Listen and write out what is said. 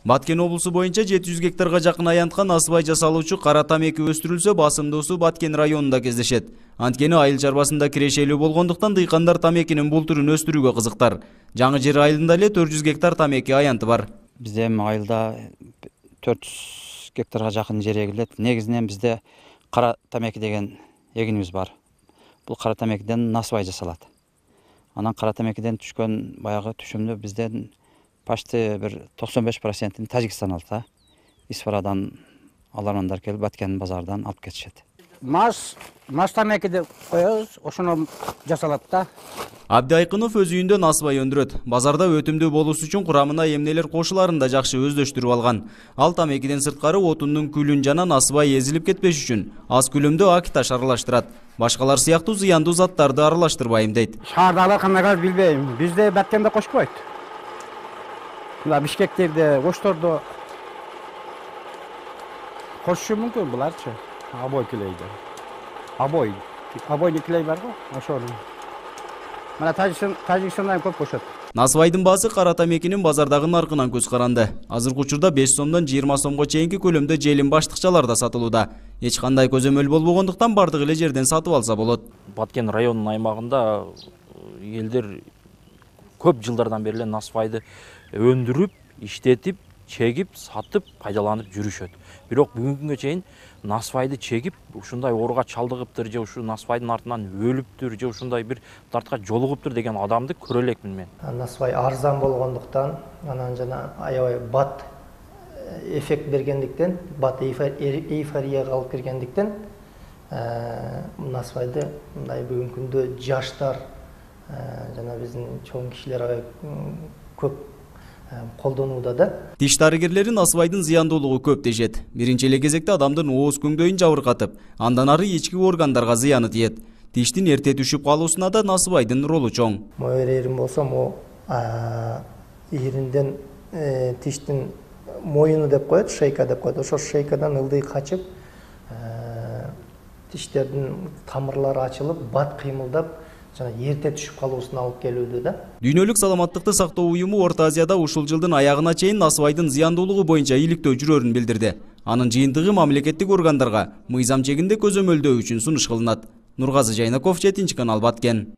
Баткен облусу боюнча 700 гектарга жакын аянтка насыбай жасалуучу кара тамеки өстүрүлсө, басымдуусу Баткен районунда кездешет. Анткени айыл чарбасында кирешелүү болгондуктан дыйкандар тамекинин бул түрүн өстүрүүгө кызыктар. Жаңы Жер айылында эле 400 гектар тамеки аянты бар. Бизде айылда 400 гектарга жакын жер эгилет. Негизинен бизде кара тамеки деген эгинибиз бар. Бул кара тамекиден насыбай жасалат. Анан кара тамекиден түшкөн баягы түшүмдү бизден почти bir 95%'ini Tacikistan aldı. İsfaradan alanlar kelip Batken bazardan alıp ketişet. Mas tamekide koyuyoruz, oşunu jasalat da. Абди Айкынов өз үйүндө насыбай өндүрөт. Базарда өтүмдүү болуусу үчүн курамына эмнелер кошуларын да жакшы өздөштүрүп алган. Ал тамекиден сырткары отундун күлүн жана насыбай эзилип кетпеш үчүн аз күлөмдө ак таш аралаштырат. Башкалар сыяктуу зыяндуу заттарды аралаштырбайм дейт. Шаардагылар кандай билбейм. Бизде Баткенде кошпойт. Бишкектерде, Оштордо кошушу мүмкүн буларчы. Абой килейди. Абой килей бар го, ошол. Мына Тажикстандан көп кошот. Насыбайдын баасы кара тамекинин базардагы наркынан көз каранды. Азыркы учурда 5 сомдон 20 сомго чейинки көлөмдө желим баштыкчаларда сатылууда. Эч кандай көзөмөл болбогондуктан бардык эле жерден сатып алса болот. Баткен районунун аймагында элдер көп жылдардан бери эле насыбайды өндүрүп, иштетип, чегип, сатып, пайдаланып жүрүшөт. Бирок бүгүнкү күнгө чейин насыбайды чегип, ушундай ооруга чалдыгыптыр же ушу насыбайдын артынан өлүптүр же ушундай бир дартка жолугуптур деген адамды көрө элекмин мен. Насыбай арзан болгондуктан, анан жана аябай бат эффект бергендиктен, бат эйфорияга алып киргендиктен, насыбайды мындай бүгүнкү күндө жаштар жана биздин чоң кишилер аябай көп колдонууда да. Тиш дарыгерлери насыбайдын зыяндуулугу көп дешет. Биринчи эле кезекте адамдын ооз көңдөйүн жабыркатып, андан ары ички органдарга зыяны тиет. Тиштин эрте түшүп калуусуна да насыбайдын ролу чоң. Моер эрим болсо, иринден тиштин моюну деп коет, шейка деп коет. Ошо шейкадан ылдый качып, тиштердин тамырлары ачылып, бат кыймылдап, жана эрте түшүп калуусуна алып келүүдө да. Дүйнөлүк саламаттыкты сактоо уюму Орто Азияда ушул жылдын аягына чейин насыбайдын зыяндуулугу боюнча иликтөө жүрөрүн билдирди. Анын жыйынтыгы мамлекеттик органдарга мыйзам чегинде көзөмөлдөө үчүн сунуш кылынат. Нургазы Жайнаков, 7 канал, Баткен.